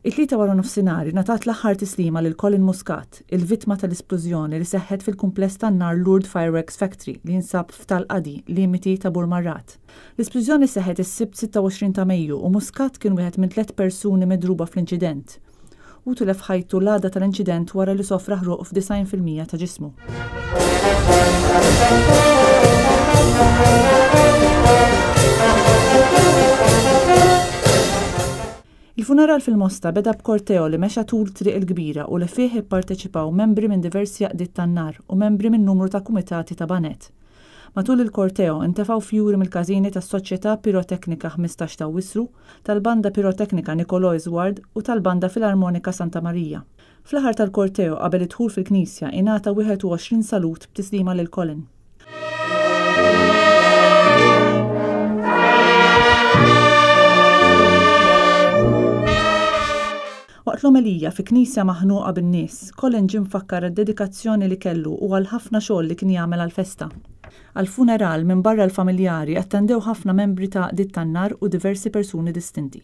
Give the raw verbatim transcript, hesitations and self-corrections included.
It-Tlieta wara nofsinhar ingħatat l-aħħar tislima lil Colin Muscat, il-vittma tal-isplużjoni li seħħet fil-kumpless tan-nar Lourdes Fireworks Factory li jinsab f'Tal-Qadi, limiti ta' Burmarrad. L-isplużjoni seħħet is-Sibt sitta u għoxrin ta' Mejju u Muscat kien wieħed minn tliet persuni midruba fl-inċident. U tilef ħajtu l-għada tal-inċident wara li sofra ħruq f'disgħin fil-mija ta' ġismu. Il-funeral fil-Mosta beda b'korteo li mexa tul Triq il-Kbira u li fih ipparteċipaw membri minn diversi għaqdiet tan-nar u membri minn numru ta' kumitati ta' baned. Matul il-korteo intefgħu fjuri mill-każini tas-Soċjetà Piroteknika ħmistax ta' Awwissu, tal-Banda Piroteknika Nicolò Isward u tal-Banda Filarmonika Santa Marija. Fl-aħħar tal-korteo qabel id-dħul fil-Knisja ingħata wieħed u għoxrin salut b'tislima lil Colin. Waqt l-omelija fi knisja maħnuqa bin-nies, Colin ġie mfakkar għad-dedikazzjoni li kellu u għal ħafna xogħol li kien jagħmel għall-festa. Għall-funeral minn barra l-familjari attendew ħafna membri ta' għaqdiet tan-nar u diversi persuni distinti.